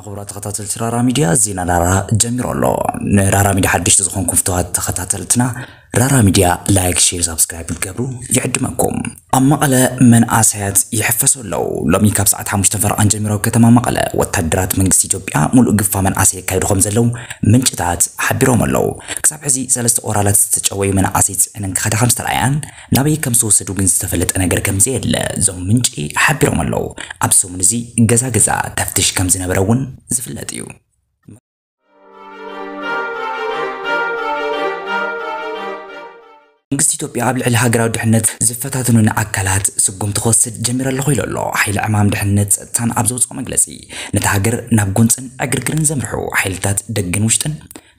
ክቡራት ተኸታተልቲ ራራ ሚድያ፣ ዜና ራራ ጀሚሩ ኣሎ። ንራራ ሚድያ ሓደሽቲ ዝኾንኩም ፍተዋት ተኸታተልትና፣ ራራ ሚድያ ላይክ፣ ሼር፣ ሳብስክራይብ ክትገብሩ ይዕድመኩም። ኣብ መቐለ መንኣሰያት ይሕፈሱ ኣለዉ። ሎሚ ካብ ሰዓት ሓሙሽተ ፈረቓን ጀሚሩ ኣብ ከተማ መቐለ ወታደራት መንግስቲ ኢትዮጵያ ሙሉእ ግፋ መንኣሰይ የካይዱ ከም ዘለዉ ምንጭታት ሓቢሮም ኣለዉ። ክሳብ ሕዚ ሰለስተ ኦራላት ዝተጨወዩ መናእሰይ ጽዕነን ክኸዳ ከም ዝተረኣያን ናበይ ከም ዝተወሰዱ ግን ዝተፈለጠ ነገር ከም ዘየለ እዞም ምንጪ ሓቢሮም ኣለዉ። ኣብ ሰሙን እዚ ገዛ ገዛ ተፍትሽ ከም ዝነበረ እውን ዝፍለጥ እዩ። መንግስቲ ኢትዮጵያ ኣብ ልዕሊ ሃገራዊ ድሕነት ዝፈታተኑን ኣካላት ስጉምቲ ክወስድ ጀሚረ ኣለኹ ኢሉ ኣሎ። ሓይሊ ዕማም ድሕነት ጸጥታን ኣብ ዘውፅኦ መግለፂ፣ ነታ ሃገር ናብ ጎንፅን ዕግርግርን ዘምርሑ ሓይልታት ደገን ውሽጥን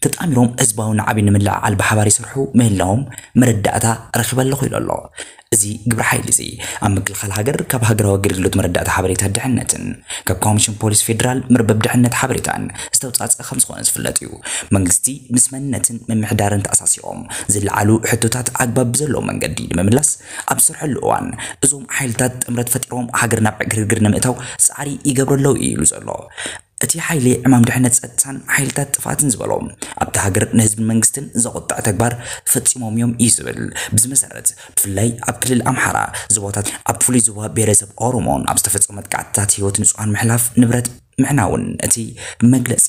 ተጣሚሮም ህዝባዊ ናዕቢ ንምልዕዓል ብሓባር ይሰርሑ ምህላዎም መረዳእታ ረኺበ ኣለኹ ኢሉ ኣሎ። እዚ ግብረ ሓይሊ እዚ ኣብ ምክልኻል ሃገር ካብ ሃገራዊ ኣገልግሎት መረዳእታ ሓበሬታ ድሕነትን ካብ ኮሚሽን ፖሊስ ፌዴራል መርበብ ድሕነት ሓበሬታን ዝተውፃፀ ከም ዝኾነ ዝፍለጥ እዩ። መንግስቲ ምስ መንነትን ምምሕዳርን ተኣሳሲሮም ዝለዓሉ ሕቶታት ኣግባብ ብዘለዎ መንገዲ ንምምላስ ኣብ ዝሰርሐሉ እዋን፣ እዞም ሓይልታት ጥምረት ፈጢሮም ሃገር ናብ ዕግርግር ንምእታው ፃዕሪ ይገብሩ ኣለዉ እዩ ኢሉ ዘሎ። እቲ ሓይሊ ዕማም ድሕነት ጸጥታን ሓይልታት ጥፍኣትን ዝበሎ ኣብቲ ሃገር ንህዝብን መንግስትን ዘቑጥዕ ተግባር ፈጺሞም እዮም እዩ ዝብል። ብዚ መሰረት ብፍላይ ኣብ ክልል ኣምሓራ ዞባታት ኣብ ፍሉይ ዞባ ብሄረሰብ ኦሮሞን ኣብ ዝተፈጸሙ መጥቃዕትታት ህይወት ንጹሃን ምሕላፍ ንብረት ምዕናውን እቲ መግለጺ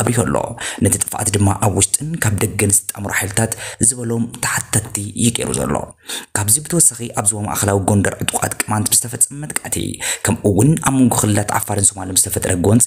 ኣብሪሁ ኣሎ። ነቲ ጥፍኣት ድማ ኣብ ውሽጥን ካብ ደገን ዝተጣምሩ ሓይልታት ዝበሎም ተሓተትቲ እዩ ገይሩ ዘሎ። ካብዚ ብተወሳኺ ኣብ ዞባ ማእኸላዊ ጎንደር ዕጡቓት ቅማንት ብዝተፈጸመ መጥቃዕቲ ከምኡ እውን ኣብ መንጎ ክልላት ዓፋርን ሶማልን ብዝተፈጥረ ጎንፂ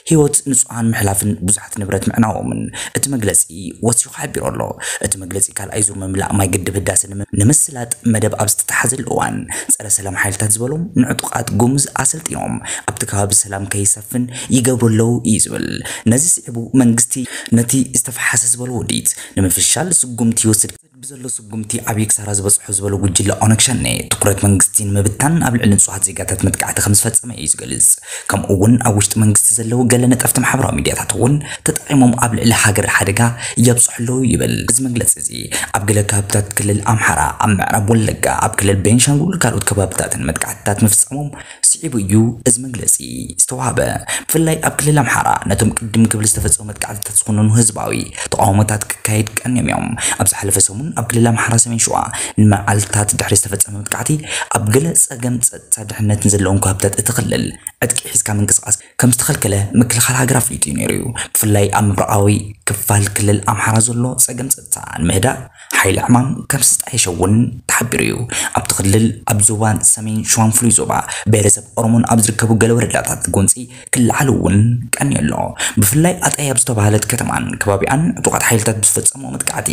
ህይወት ንጹሃን ምሕላፍን ብዙሓት ንብረት ምዕናዎምን እቲ መግለፂ ወሲኹ ሓቢሩ ኣሎ። እቲ መግለፂ ካልኣይ ዙር ምምላእ ማይ ግድብ ህዳሰ ንምስላጥ መደብ ኣብ ዝተተሓዘሉ እዋን ጸረ ሰላም ሓይልታት ዝበሎም ንዕጡቓት ጉሙዝ ኣሰልጢኖም ኣብቲ ከባቢ ሰላም ከይሰፍን ይገብሩ ኣለዉ እዩ ዝብል። ነዚ ስዒቡ መንግስቲ ነቲ ዝተፈሓሰ ዝበሎ ውዲት ንምፍሻል ስጉምቲ ይወስድ ብዘሎ ስጉምቲ ዓብዪ ክሳራ ዝበፅሖ ዝበሎ ጉጅለ ኦነግ ሸኔ ትኩረት መንግስቲ ንምብታን ኣብ ልዕሊ ንፁሃት ዜጋታት መጥቃዕቲ ከም ዝፈፀመ እዩ ዝገልፅ። ከምኡ እውን ኣብ ውሽጢ መንግስቲ ዘለዉ ገለ ነጠፍቲ ማሕበራዊ ሚድያታት እውን ተጠቂሞም ኣብ ልዕሊ ሃገር ሓደጋ የብፅሑ ኣለዉ ይብል። እዚ መግለፂ እዚ ኣብ ገለ ከባብታት ክልል ኣምሓራ፣ ኣብ ምዕራብ ወለጋ፣ ኣብ ክልል ቤንሻንጉል ካልኦት ከባብታትን መጥቃዕትታት ምፍፃሞም ስዒቡ እዩ እዚ መግለፂ ዝተዋህበ። ብፍላይ ኣብ ክልል ኣምሓራ ነቶም ቅድም ክብል ዝተፈፀሙ መጥቃዕትታት ዝኾነኑ ህዝባዊ ተቃውሞታት ክካየድ ቀንዮም እዮም። ኣብ ዝሓለፈ ሰሙን ኣብ ክልል ኣምሓራ ሰሜን ሸዋ ንመዓልታት ድሕሪ ዝተፈፀመ መጥቃዕቲ ኣብ ገለ ፀገም ጸጥታ ድሕነትን ዘለዎም ከባብታት እቲ ክልል ዕጥቂ ሒዝካ ምንቅስቃስ ከም ዝተኸልከለ ምክልኻል ሃገር ኣፍሊጡ እዩ ነይሩ እዩ። ብፍላይ ኣብ ምብራቓዊ ክፋል ክልል ኣምሓራ ዘሎ ጸገም ጸጥታ ንምህዳእ ሓይሊ ዕማም ከም ዝተጣየሸ እውን ተሓቢሩ እዩ። ኣብቲ ክልል ኣብ ዞባን ሰሜን ሸዋን ፍሉይ ዞባ ብሄረሰብ ኦሮሞን ኣብ ዝርከቡ ገለ ወረዳታት ጎንፂ ክለዓሉ እውን ቀንዩ ኣሎ። ብፍላይ ኣጣይ ኣብ ዝተባህለት ከተማን ከባቢኣን ዕጡቓት ሓይልታት ብዝፈጸምዎ መጥቃዕቲ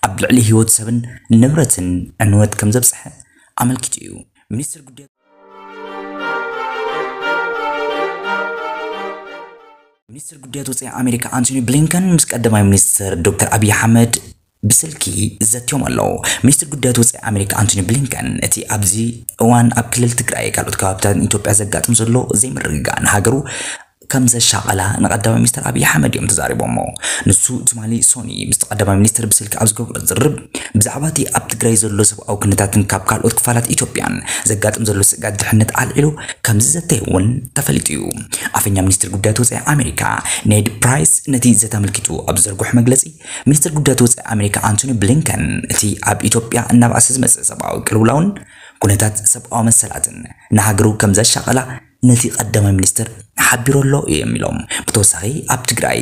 ኣብ ልዕሊ ህይወት ሰብን ንብረትን ዕንወት ከም ዘብጽሐ ኣመልኪቱ እዩ። ሚኒስትር ጉዳያት ሚኒስትር ጉዳያት ወጻኢ ኣሜሪካ ኣንቶኒ ብሊንከን ምስ ቀዳማይ ሚኒስትር ዶክተር ኣብይ ኣሕመድ ብስልኪ ዘትዮም ኣለዉ። ሚኒስትር ጉዳያት ወጻኢ ኣሜሪካ ኣንቶኒ ብሊንከን እቲ ኣብዚ እዋን ኣብ ክልል ትግራይ ካልኦት ከባብታት ኢትዮጵያ ዘጋጥም ዘሎ ዘይምርግጋእ ንሃገሩ ከም ዘሻቐላ ንቀዳማይ ሚኒስትር ኣብይ ኣሕመድ እዮም ተዛሪቦሞ። ንሱ ትማሊ ሶኒ ምስ ቀዳማይ ሚኒስትር ብስልኪ ኣብ ዝገብሮ ዝርርብ ብዛዕባ እቲ ኣብ ትግራይ ዘሎ ሰብኣዊ ኩነታትን ካብ ካልኦት ክፋላት ኢትዮጵያን ዘጋጥም ዘሎ ስግኣት ድሕነት ኣልዒሉ ከም ዝዘተየ እውን ተፈሊጡ እዩ። ኣፈኛ ሚኒስትር ጉዳያት ወጻኢ ኣሜሪካ ኔድ ፕራይስ ነቲ ዘተ ኣመልኪቱ ኣብ ዝዘርግሖ መግለጺ፣ ሚኒስትር ጉዳያት ወጻኢ ኣሜሪካ ኣንቶኒ ብሊንከን እቲ ኣብ ኢትዮጵያ እናበኣሰ ዝመጽእ ሰብኣዊ ቅልውላውን ኩነታት ሰብኣዊ መሰላትን ንሃገሩ ከም ዘሻቐላ ነቲ ቀዳማይ ሚኒስትር ሓቢሩ ኣሎ እዮም ኢሎም። ብተወሳኺ ኣብ ትግራይ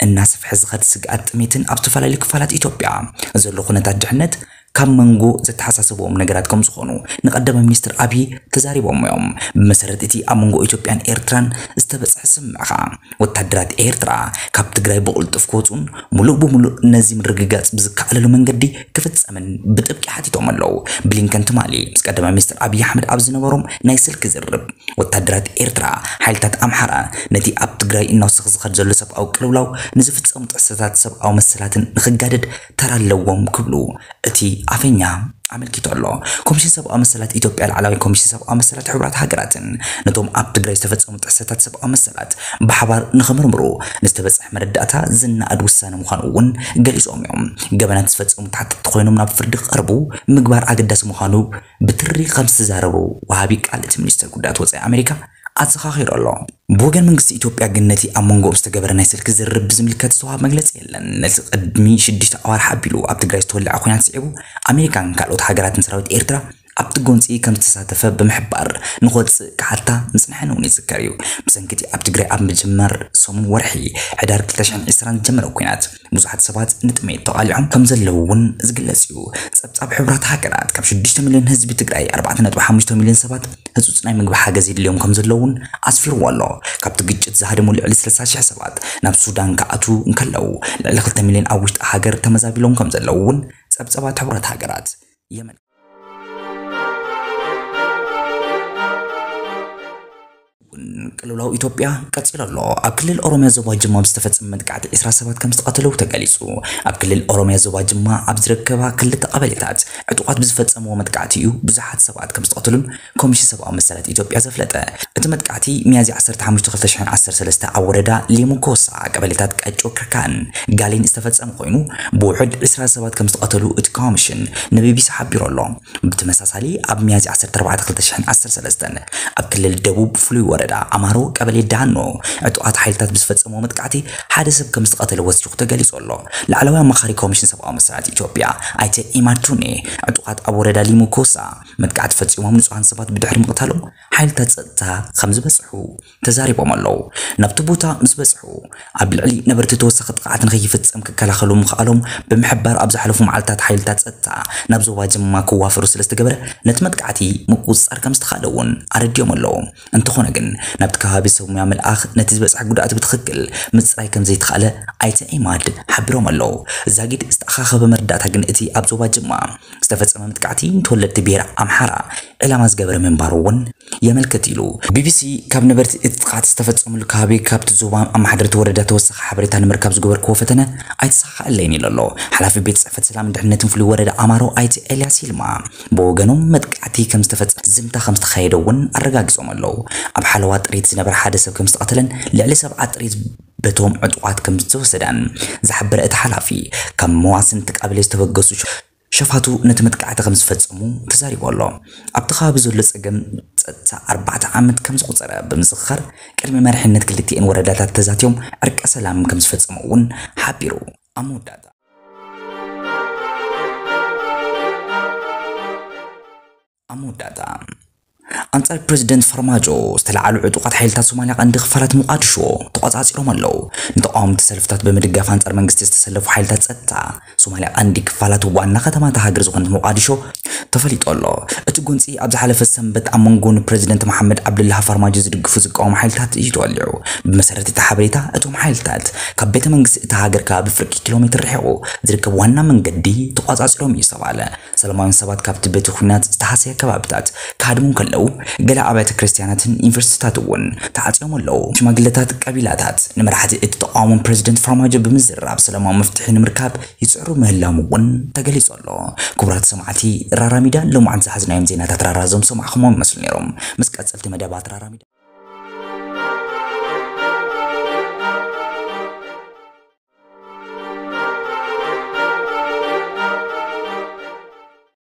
እናሰፍሐ ዝኸድ ስግኣት ጥሜትን ኣብ ዝተፈላለዩ ክፋላት ኢትዮጵያ ዘሎ ኩነታት ድሕነት ካብ መንጎ ዘተሓሳስብዎም ነገራት ከም ዝኾኑ ንቀዳማይ ሚኒስትር ኣብይ ተዛሪቦም እዮም። ብመሰረት እቲ ኣብ መንጎ ኢትዮጵያን ኤርትራን ዝተበጽሐ ስምምዕ ኸኣ ወታደራት ኤርትራ ካብ ትግራይ ብቕልጡፍ ክወፁን ሙሉእ ብሙሉእ ነዚ ምርግጋፅ ብዝከኣለሉ መንገዲ ክፍፀምን ብጥብቂ ሓቲቶም ኣለዉ። ብሊንከን ትማሊ ምስ ቀዳማይ ሚኒስትር ኣብይ ኣሕመድ ኣብ ዝነበሮም ናይ ስልኪ ዝርርብ ወታደራት ኤርትራ ሓይልታት ኣምሓራ ነቲ ኣብ ትግራይ እናወሰኸ ዝኸድ ዘሎ ሰብኣዊ ቅልውላው ንዝፍፀሙ ጥሕሰታት ሰብኣዊ መሰላትን ንክጋደድ ተራ ኣለዎም ክብሉ እቲ ኣፈኛ ኣመልኪቱ ኣሎ። ኮሚሽን ሰብኣዊ መሰላት ኢትዮጵያ ላዕላዊ ኮሚሽን ሰብኣዊ መሰላት ሕቡራት ሃገራትን ነቶም ኣብ ትግራይ ዝተፈጸሙ ጥሕሰታት ሰብኣዊ መሰላት ብሓባር ንኽምርምሩ ንዝተበጽሐ መረዳእታ ዝነኣድ ውሳነ ምዃኑ እውን ገሊጾም እዮም። ገበናት ዝፈጸሙ ተሓተትቲ ኮይኖም ናብ ፍርዲ ክቐርቡ ምግባር ኣገዳሲ ምዃኑ ብትሪ ከም ዝተዛረቡ ወሃቢ ቃል እቲ ሚኒስትር ጉዳያት ወጻኢ ኣሜሪካ ኣዘኻኺሩ ኣሎ። ብወገን መንግስቲ ኢትዮጵያ ግን ነቲ ኣብ መንጎኦም ዝተገበረ ናይ ስልኪ ዝርርብ ብዝምልከት ዝተዋህበ መግለጺ የለን። ነቲ ቅድሚ ሽዱሽተ ኣዋርሕ ኣቢሉ ኣብ ትግራይ ዝተወለዐ ኲናት ስዒቡ ኣሜሪካን ካልኦት ሃገራትን ሰራዊት ኤርትራ ኣብቲ ጎንፂ ከም ዝተሳተፈ ብምሕባር ንክወፅእ ክሓታ ምፅንሐን እውን ይዝከር እዩ። ብሰንኪ እቲ ኣብ ትግራይ ኣብ ምጅማር ሰሙን ወርሒ ሕዳር ክልተ ሽሕን ዕስራን ዝጀመረ ኲናት ብዙሓት ሰባት ንጥሜት ተቓሊዖም ከም ዘለዉ እውን ዝግለጽ እዩ። ጸብጻብ ሕቡራት ሃገራት ካብ ሽዱሽተ ሚልዮን ህዝቢ ትግራይ ኣርባዕተ ነጥቢ ሓሙሽተ ሚልዮን ሰባት ህጹጽ ናይ ምግቢ ሓገዝ የድልዮም ከም ዘለዉ እውን ኣስፊርዎ ኣሎ። ካብቲ ግጭት ዝሃደሙ ልዕሊ ሰላሳ ሽሕ ሰባት ናብ ሱዳን ክኣትዉ እንከለዉ፣ ልዕሊ ክልተ ሚልዮን ኣብ ውሽጢ ሃገር ተመዛቢሎም ከም ዘለዉ እውን ጸብጻባት ሕቡራት ሃገራት የመልክት። ቅልውላው ኢትዮጵያ ቀጺሉ ኣሎ። ኣብ ክልል ኦሮሚያ ዞባ ጅማ ብዝተፈጸመ መጥቃዕቲ ዕስራ ሰባት ከም ዝተቐተለው ተገሊጹ። ኣብ ክልል ኦሮሚያ ዞባ ጅማ ኣብ ዝርከባ ክልተ ቀበሌታት ዕጡቓት ብዝፈጸምዎ መጥቃዕቲ እዩ ብዙሓት ሰባት ከም ዝተቐተሉን ኮሚሽን ሰብኣዊ መሰላት ኢትዮጵያ ዘፍለጠ። እቲ መጥቃዕቲ ሚያዝያ ዓሰርተ ሓሙሽተ ክልተ ሽሕን ዓሰርተ ሰለስተ ኣብ ወረዳ ሊሙ ኮሳ ቀበሌታት ቀጮ ክርካን ጋሌን ዝተፈጸመ ኮይኑ፣ ብውሑድ ዕስራ ሰባት ከም ዝተቐተሉ እቲ ኮሚሽን ንቢቢሲ ሓቢሩ ኣሎ። ብተመሳሳሊ ኣብ ሚያዝያ ዓሰርተ ኣርባዕተ ክልተ ሽሕን ዓሰርተ ሰለስተን ኣብ ክልል ደቡብ ፍሉይ ወረዳ ኣማሮ ቀበሌ ዳኖ ዕጡቓት ሓይልታት ብዝፈጸምዎ መጥቃዕቲ ሓደ ሰብ ከም ዝተቐተለ ወሲኹ ተገሊጹ ኣሎ። ላዕለዋይ ኣማኻሪ ኮሚሽን ሰብኣዊ መሰላት ኢትዮጵያ ኣይተ ኢማድ ቱኔ ዕጡቓት ኣብ ወረዳ ሊሙ ኮሳ መጥቃዕቲ ፈጺሞም ንጹሃን ሰባት ብድሕሪ ምቕታሎም ሓይልታት ጸጥታ ከም ዝበጽሑ ተዛሪቦም ኣለዉ። ናብቲ ቦታ ምስ በጽሑ ኣብ ልዕሊ ነበርቲ ተወሳኺ ጥቕዓት ንኸይፍጸም ክከላኸሉ ምኽኣሎም ብምሕባር ኣብ ዝሓለፉ መዓልታት ሓይልታት ጸጥታ ናብ ዞባ ጅማ ክዋፈሩ ስለ ዝተገበረ ነቲ መጥቃዕቲ ምቁጽጻር ከም ዝተኻእለ እውን ኣረዲኦም ኣለዉ። እንተኾነ ግን ናብቲ ከባቢ ሰብ ሙያ ምልኣኽ ነቲ ዝበጽሐ ጉድኣት ብትኽክል ምጽራይ ከም ዘይተኻእለ ኣይተ ኢማድ ሓቢሮም ኣለዉ። ዛጊድ ዝተኣኻኸበ መረዳእታ ግን እቲ ኣብ ዞባ ጅማ ዝተፈጸመ መጥቃዕቲ ንተወለድቲ ብሄር ኣምሓራ ዕላማ ዝገበረ ምንባሩ እውን የመልክት ኢሉ። ቢቢሲ ካብ ነበርቲ እቲ ጥቕዓት ዝተፈጸመሉ ከባቢ ካብቲ ዞባ ኣመሓደርቲ ወረዳ ተወሳኺ ሓበሬታ ንምርካብ ዝገበርክዎ ፈተነ ኣይተሳኻኣለይን ኢሉ ኣሎ። ሓላፊ ቤት ጽሕፈት ሰላምን ድሕነትን ፍሉይ ወረዳ ኣማሮ ኣይተ ኤልያስ ይልማ ብወገኖም መጥቃዕቲ ከም ዝተፈጸመ ዝምታ ከም ዝተኻየደ እውን ኣረጋጊጾም ኣለዉ። ኣብ ሓለዋ ጥሪት ዝነበረ ሓደ ሰብ ከም ዝተቐተለን ልዕሊ ሰብዓ ጥሪት በቶም ዕጡቓት ከም ዝተወሰዳን ዝሓበረ እቲ ሓላፊ፣ ካብ መዋስንቲ ቀበሌ ዝተበገሱ ሸፋቱ ነቲ መጥቃዕቲ ከም ዝፈጸሙ ተዛሪቡ ኣሎ። ኣብቲ ከባቢ ዘሎ ጸገም ጸጥታ ኣርባዕተ ዓመት ከም ዘቑጸረ ብምዝኽኻር፣ ቅድሚ መሪሕነት ክልቲኤን ወረዳታት ተዛትዮም ዕርቀ ሰላም ከም ዝፈጸሙ እውን ሓቢሩ። ኣብ መወዳእታ ኣብ መወዳእታ ኣንጻር ፕሬዚደንት ፋርማጆ ዝተለዓሉ ዕጡቓት ሓይልታት ሶማልያ ቀንዲ ክፋላት ሞቓዲሾ ተቖጻጺሮም ኣለዉ። ንተቓወምቲ ሰልፍታት ብምድጋፍ ኣንጻር መንግስቲ ዝተሰለፉ ሓይልታት ጸጥታ ሶማልያ ቀንዲ ክፋላት ዋና ከተማ እታ ሃገር ዝኾነት ሞቓዲሾ ተፈሊጡ ኣሎ። እቲ ጎንጺ ኣብ ዝሓለፈ ሰንበት ኣብ መንጎ ንፕሬዚደንት መሓመድ ዓብዱላህ ፋርማጆ ዝድግፉ ዝቃወሙ ሓይልታት እዩ ተወሊዑ። ብመሰረት እቲ ሓበሬታ እቶም ሓይልታት ካብ ቤተ መንግስቲ እታ ሃገር ከባቢ ፍርቂ ኪሎ ሜትር ርሒቑ ዝርከብ ዋና መንገዲ ተቖጻጺሮም እዩ ዝተባህለ። ሰላማውያን ሰባት ካብቲ በቲ ኲናት ዝተሃሰየ ከባብታት ክሃድሙ እንከለዉ፣ ገለ ኣብያተ ክርስትያናትን ዩኒቨርሲቲታት እውን ተዓጽዮም ኣለዉ። ሽማግለታት ቀቢላታት ንመራሕቲ እቲ ተቓውሞን ፕሬዚደንት ፋርማጆ ብምዝርራብ ሰላማዊ መፍትሒ ንምርካብ ይጽዕሩ ምህላዎም እውን ተገሊጹ ኣሎ። ክቡራት ሰማዕቲ ራራ ሚድያ፣ ሎማዓንቲ ዝሓዝናዮም ዜናታት ራራ እዞም ሰማዕኹሞም ይመስሉ ነይሮም። ምስ ቀጸልቲ መደባት ራራ ሚድያ